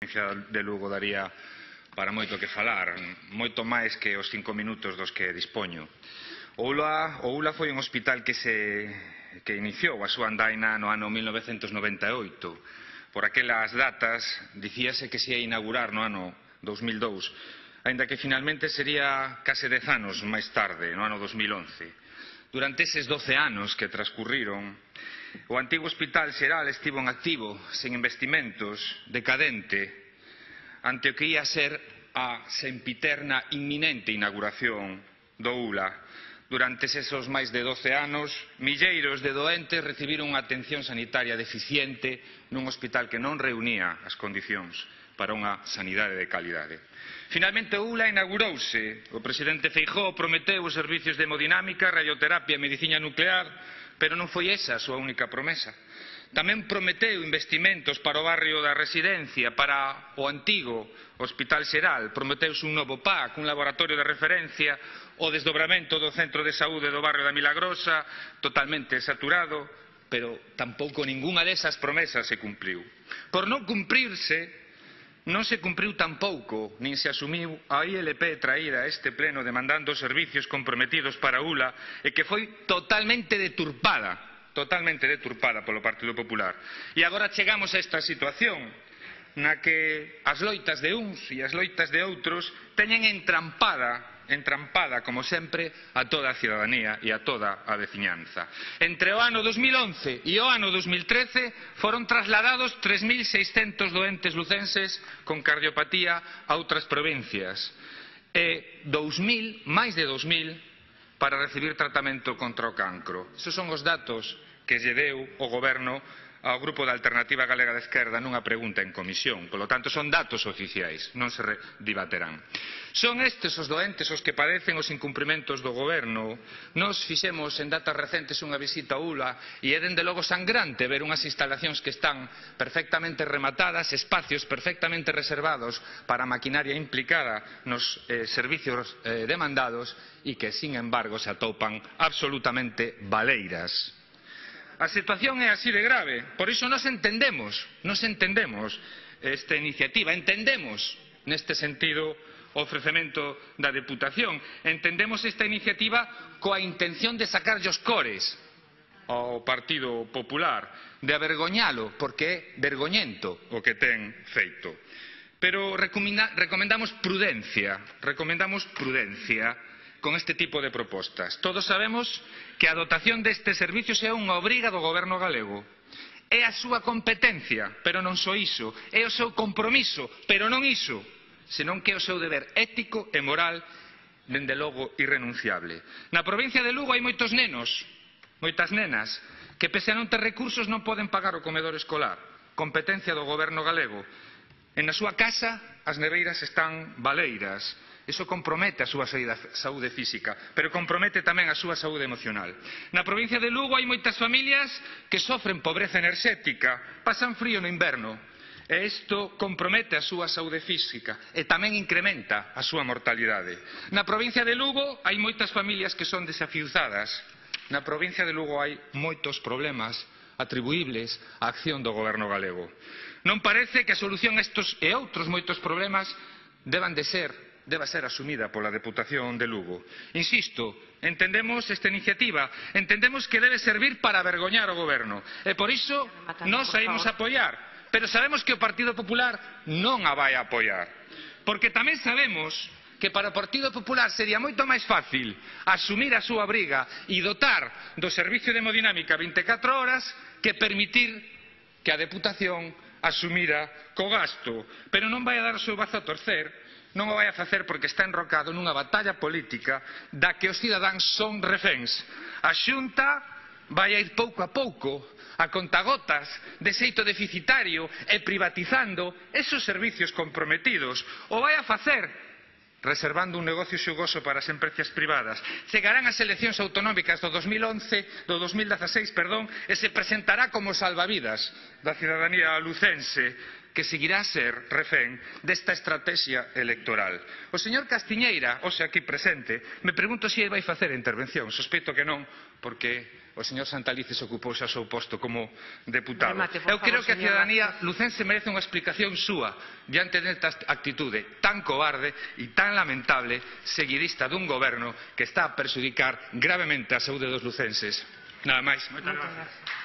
provincia de Lugo daría para moito que falar, moito máis que os 5 minutos dos que dispoño. O ULA foi un hospital que iniciou a súa andaina no ano 1998. Por aquelas datas dicíase que se ia inaugurar no ano 2002, aínda que finalmente sería case 10 anos máis tarde, no ano 2011. Durante eses 12 anos que transcurriron, o antigo Hospital Xeral estivo en activo, sen investimentos, decadente, ante o que ia ser a sempiterna inminente inauguración do ULA. Durante esos máis de 12 anos, milleiros de doentes recibiron unha atención sanitaria deficiente nun hospital que non reunía as condicións para unha sanidade de calidade. Finalmente o ULA inaugurouse. O presidente Feijóo prometeu os servicios de hemodinámica, radioterapia e medicina nuclear, pero non foi esa a súa única promesa. Tamén prometeu investimentos para o barrio da Residencia, para o antigo Hospital Xeral. Prometeuse un novo PAC, un laboratorio de referencia, o desdobramento do centro de saúde do barrio da Milagrosa, totalmente saturado, pero tampouco ningunha desas promesas se cumpriu. Por non cumprirse, non se cumpriu tampouco, nin se asumiu a ILP traída a este pleno demandando servicios comprometidos para ULA e que foi totalmente deturpada polo Partido Popular. E agora chegamos a esta situación na que as loitas de uns e as loitas de outros teñen entrampada, como sempre, a toda a cidadanía e a toda a veciñanza. Entre o ano 2011 e o ano 2013 foron trasladados 3.600 doentes lucenses con cardiopatía a outras provincias e máis de 2.000 para recibir tratamento contra o cancro. Esos son os datos que lle deu o Goberno ao Grupo da Alternativa Galega de Esquerda nunha pregunta en comisión. Polo tanto, son datos oficiais, non se dibaterán. Son estes os doentes os que padecen os incumprimentos do Goberno. Nos fixemos en datas recentes unha visita a ULA e é dende logo sangrante ver unhas instalacións que están perfectamente rematadas, espacios perfectamente reservados para a maquinaria implicada nos servicios demandados e que, sin embargo, se atopan absolutamente baleiras. A situación é así de grave, por iso nos entendemos esta iniciativa, entendemos neste sentido o ofrecemento da Deputación, entendemos esta iniciativa coa intención de sacarlle os cores ao Partido Popular, de avergoñalo, porque é vergoñento o que ten feito. Pero recomendamos prudencia con este tipo de propostas. Todos sabemos que a dotación destes servicios é unha obriga do Goberno galego. É a súa competencia, pero non só iso. É o seu compromiso, pero non iso, senón que é o seu deber ético e moral, dende logo irrenunciable. Na provincia de Lugo hai moitos nenos, moitas nenas, que pese a non ter recursos non poden pagar o comedor escolar. Competencia do Goberno galego. E na súa casa as neveiras están baleiras. Iso compromete a súa saúde física, pero compromete tamén a súa saúde emocional. Na provincia de Lugo hai moitas familias que sofren pobreza enerxética, pasan frío no inverno, e isto compromete a súa saúde física e tamén incrementa a súa mortalidade. Na provincia de Lugo hai moitas familias que son desafiuzadas. Na provincia de Lugo hai moitos problemas atribuíbles á acción do Goberno galego. Non parece que a solución a estes e outros moitos problemas deba ser asumida pola Deputación de Lugo. Insisto, entendemos esta iniciativa, entendemos que debe servir para avergoñar o Goberno, e por iso nós a imos apoiar, pero sabemos que o Partido Popular non a vai apoiar, porque tamén sabemos que para o Partido Popular sería moito máis fácil asumir a súa briga e dotar do servicio de hemodinámica 24 horas que permitir que a Deputación asumira co gasto, pero non vai a dar o seu brazo a torcer. Non o vai a facer porque está enrocado nunha batalla política da que os cidadáns son reféns. A Xunta vai a ir pouco a pouco, a contagotas, de xeito deficitario e privatizando esos servicios comprometidos. O vai a facer reservando un negocio xugoso para as empresas privadas. Chegarán as eleccións autonómicas do 2016, e se presentará como salvavidas da cidadanía lucense, que seguirá a ser refén desta estrategia electoral. O señor Castiñeira, hoxe aquí presente, me pregunto se vai facer a intervención. Sospeito que non, porque o señor Santalices ocupouse ao seu posto como deputado. Remate, por Eu creo favor, que a señor ciudadanía lucense merece unha explicación súa diante desta actitude tan cobarde e tan lamentable seguidista dun goberno que está a perxudicar gravemente a saúde dos lucenses. Nada máis. Moitas gracias.